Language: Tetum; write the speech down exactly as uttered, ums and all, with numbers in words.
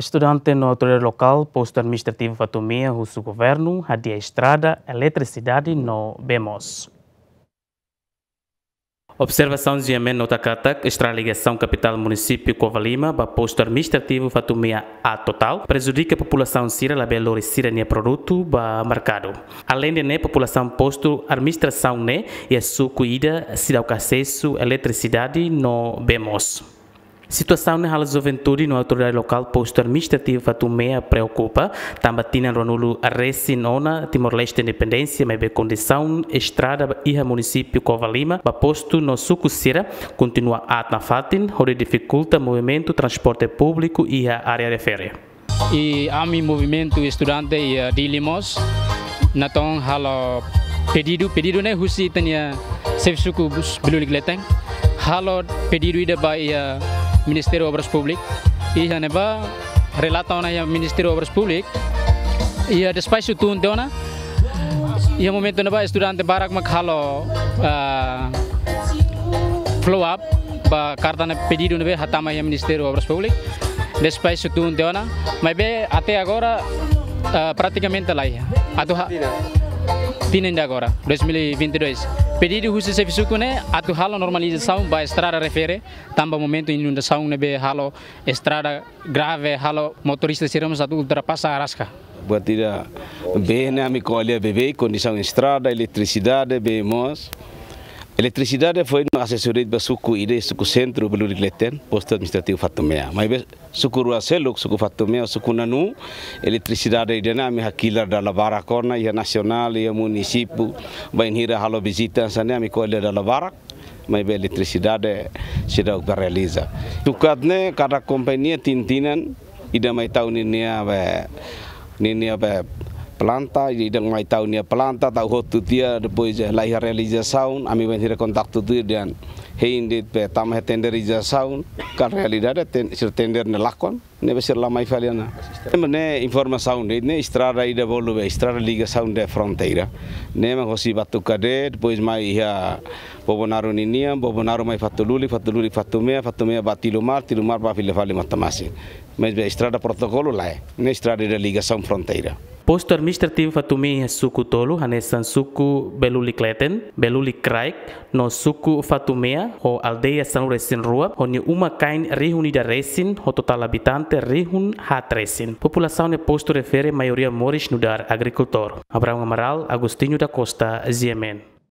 Estudante no autoridade lokál postu administrativu Fatumea husu governu hadi'a estrada, eletrisidade no bee moos. Observasaun GMN nota katak estrada ligasaun kapitál munisípiu Covalima ba postu administrativu Fatumea A Total prejudika populasaun sira labele lori sira-nia produtu ba merkadu. Aleinde ne'e, populasaun postu administrasaun ne'e iha suku ida seidauk asesu eletrisidade no bee moos. Situasaun ne'e halo juventude no autoridade lokál postu administrativu Fatumea preokupa, tanba tinan ruanulu resin ona Timor-Leste independénsia, maibé kondisaun estrada iha munisípiu Covalima ba postu no suku sira kontinua aat nafatin, hodi difikulta movimentu transporte públiku iha área refere. I ami movimentu estudante iha Dili mós natoon halo pedidu, pedidu ne'e husi ita-nia xefe suku Bes-, Belulik Leten. Halo pedidu ida ba iha Ministériu Obras Públikas. Iha ne'ebá relata ona iha Ministériu Obras Públikas. Iha despaxu tun tiha ona. Iha momentu ne'ebá estudante barak mak halo, ah, follow up ba karta ne'e, pedidu ne'ebé hatama iha Ministériu Obras Públikas. Despaxu tun tiha ona, maibé até agora, ah, pratikamente laiha. Atu ha-, tinan ida agora, dois mil e vinte e dois. Pedidu husi xefe suku ne'e atu halo normalizasaun ba estrada refere, tanba momentu inundasaun ne'ebé halo estrada grave, halo motorista sira mós atu ultrapasa araska. Buat ida, bee ne'e ami ko'alia beibeik, kondisaun estrada, eletrisidade, bee moos. Eletrisidade foin asesu de'it ba suku ida, suku sentru Belulik Leten, postu administrativu Fatumea. Maibé suku rua seluk, suku Fatumea, suku Nanu, eletrisidade ida-ne'e ami hakilar dala barak ona, iha nasionál, iha munisípiu, bainhira halo vizita hanesan ne'e ami ko'alia dala barak, maibé eletrisidade seidauk bá realiza. Tukat ne'e kada kompañia tinan-tinan ida mai tau ninia be, ninia be planta, ida mai tau nia planta, tau hotu tiha, depois, eh, laiha realizasaun, ami bainhira kontaktu tuir dehan hein de'it be tama iha tenderizasaun, ka realidade ten-, sira tender ne'e lakon, ne'ebé sira la mai fali ona. Ne'e informasaun de'it ne'e estrada ida bolu be, estrada ligasaun de fronteira. Ne'e mak hosi Batucadé, depois mai iha Bobonaro ninian, Bobonaro mai Fatululik, Fatululik Fatumea, Fatumea bá Tilumar, Tilumar bá fila fali Matamasin. Maibé estrada protokolu lae, ne'e estrada ida ligasaun fronteira. Postu administrativu Fatumea iha suku tolu, hanesan suku Belulik Leten, Belulik Kraik, no suku Fatumea, ho aldeia sanulu resin rua, ho nia uma-kain rihun ida resin, ho totál abitante rihun haat resin. Populasaun iha postu refere maioria moris nu'udar agrikultór. Abraão Amaral, Agostinho da Costa, GMN.